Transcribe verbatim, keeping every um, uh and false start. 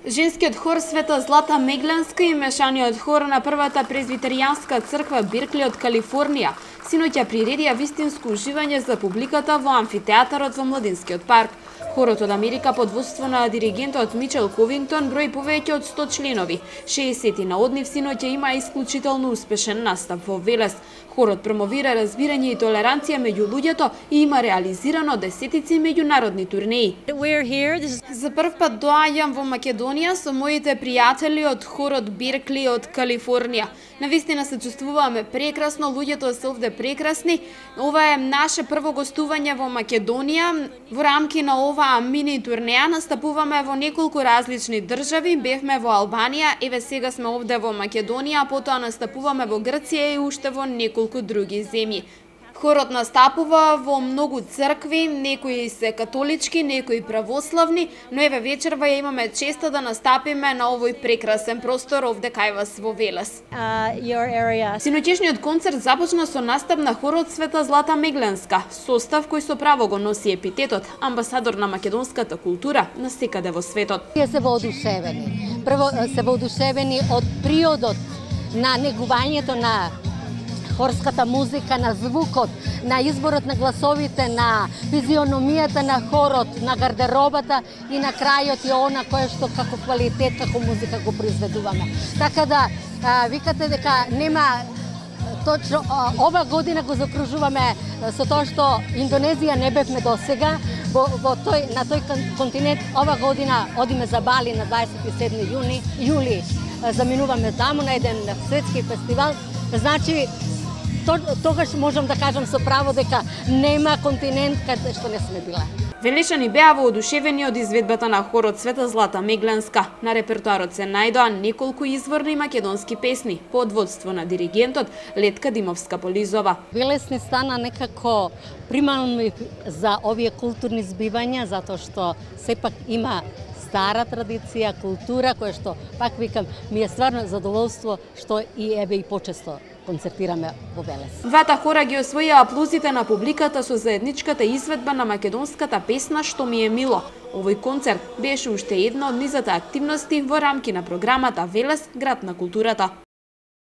Женскиот хор Света Злата Мегланска и мешаниот хор на првата презвитеријанска црква Беркли од Калифорнија синоќа приредија вистинско уживање за публиката во амфитеатарот во Младинскиот парк. Хорот од Америка под водство на диригентот Мичел Ковингтон брои повеќе од сто членови. шеесет на од нив синоќа има исклучително успешен настап во Велес. Хорот промовира разбирање и толеранција меѓу луѓето и има реализирано десетици меѓународни турнеи. За прв пат доаѓам во Македонија со моите пријатели од хорот Беркли од Калифорнија. Навистина се чувствуваме прекрасно, луѓето се овде прекрасни. Ова е наше прво гостување во Македонија. Во рамки на оваа мини турнеја настапуваме во неколку различни држави. Бевме во Албанија, еве сега сме овде во Македонија, потоа настапуваме во Грција и уште во неколку други земји. Хорот настапува во многу цркви, некои се католички, некои православни, но еве вечерва ја имаме честа да настапиме на овој прекрасен простор овде кај вас во Велес. Uh, Синоќешниот концерт започна со настап на хорот Света Злата Мегланска, состав кој со право го носи епитетот амбасадор на македонската култура насекаде во светот. Тие се воодушевени. Прво се воодушевени од приодот на негувањето на хорската музика, на звукот, на изборот на гласовите, на физиономијата на хорот, на гардеробата и на крајот и она кое што како квалитет, како музика го произведуваме. Така да, а, викате дека нема точно а, ова година го закружуваме со тоа што Индонезија не бевме досега во, во тој на тој континент. Ова година одиме за Бали на дваесет и седми јуни, јули. Заминуваме таму на еден светски фестивал. Значи тогаш можам да кажам со право дека нема континент каде што не сме биле. Велешани беа воодушевени од изведбата на хорот Света Злата Мегланска. На репертоарот се најдоа неколку изворни македонски песни под водство на диригентот Летка Димовска-Полизова. Велес не стана некако примамлив за овие културни збивања, затоа што сепак има стара традиција, култура, која што, пак викам, ми е стварно задоволство што и еве и почесто концертираме во Велес. Двата хора ги освоија аплузите на публиката со заедничката изведба на македонската песна "Што ми е мило". Овој концерт беше уште една од низата активности во рамки на програмата Велес, град на културата.